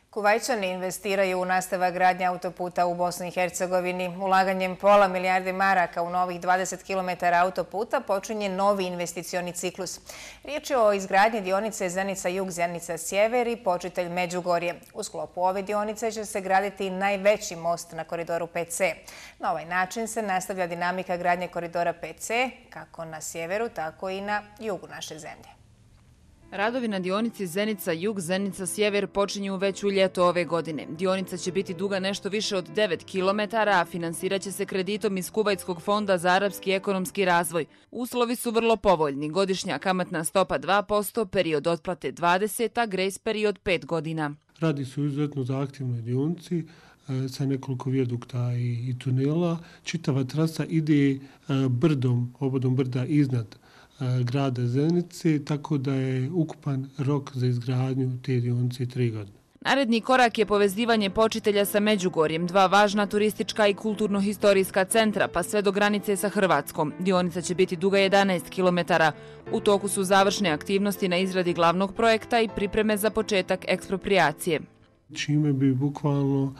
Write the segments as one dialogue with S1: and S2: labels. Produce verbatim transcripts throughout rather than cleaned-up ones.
S1: Kuvajčani investiraju u nastavak gradnje autoputa u Bosni i Hercegovini. Ulaganjem pola milijarde maraka u novih dvadeset kilometara autoputa počinje novi investicioni ciklus. Riječ je o izgradnji dionice Zenica-Jug, Zenica-Sjever i Počitelj Međugorje. U sklopu ove dionice će se graditi najveći most na koridoru pet ce. Na ovaj način se nastavlja dinamika gradnje koridora pet ce, kako na sjeveru, tako i na jugu naše zemlje.
S2: Radovi na dionici Zenica-Jug, Zenica-Sjever počinju već u ljeto ove godine. Dionica će biti duga nešto više od devet kilometara, a finansirat će se kreditom iz Kuvajtskog fonda za arapski ekonomski razvoj. Uslovi su vrlo povoljni. Godišnja kamatna stopa dva posto, period otplate dvadeset, a grejs period pet godina.
S3: Radi se o izuzetno zahtjevnoj dionici sa nekoliko vijadukta i tunela. Čitava trasa ide brdom, obodom brda iznad grada Zenice, tako da je ukupan rok za izgradnju te dionice tri godine.
S2: Naredni korak je povezivanje Počitelja sa Međugorjem, dva važna turistička i kulturno-historijska centra, pa sve do granice sa Hrvatskom. Dionica će biti duga jedanaest kilometara. U toku su završne aktivnosti na izradi glavnog projekta i pripreme za početak eksproprijacije.
S3: Čime bi bukvalno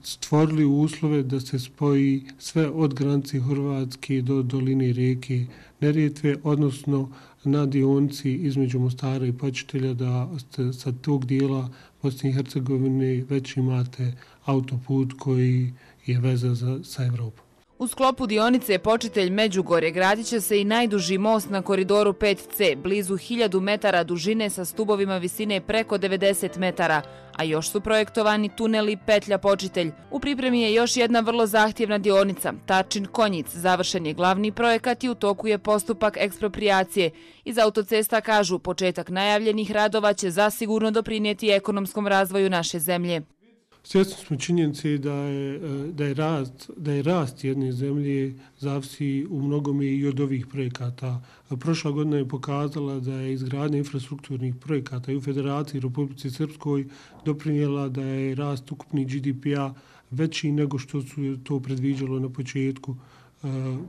S3: stvorili uslove da se spoji sve od granice Hrvatske do doline rijeke Neretve, odnosno na dionici između Mostara i Počitelja, da sa tog dijela Bosne i Hercegovine već imate autoput koji je veza za, sa Evropom.
S2: U sklopu dionice Počitelj Međugorje gradit će se i najduži most na koridoru pet ce, blizu hiljadu metara dužine sa stubovima visine preko devedeset metara, a još su projektovani tuneli petlja Počitelj. U pripremi je još jedna vrlo zahtjevna dionica, Tarčin-Konjic. Završen je glavni projekat i u toku je postupak eksproprijacije. Iz autocesta kažu, početak najavljenih radova će zasigurno doprinijeti ekonomskom razvoju naše zemlje.
S3: Svjesni smo činjenice da je, da je rast, da je rast jedne zemlje zavisi u mnogome i od ovih projekata. Prošla godina je pokazala da je izgradnja infrastrukturnih projekata i u Federaciji Republici Srpskoj doprinijela da je rast ukupni G D P-a veći nego što su to predviđalo na početku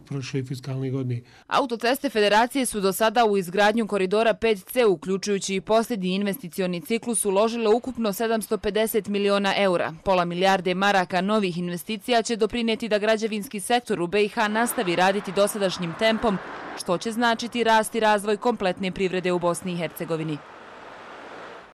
S3: prošle fiskalne godine.
S2: Autoceste Federacije su do sada u izgradnju koridora pet ce, uključujući i posljednji investicioni ciklus, uložile ukupno sedamsto pedeset miliona eura. Pola milijarde maraka novih investicija će doprinijeti da građevinski sektor u be i ha nastavi raditi dosadašnjim tempom, što će značiti rast i razvoj kompletne privrede u Bosni i Hercegovini.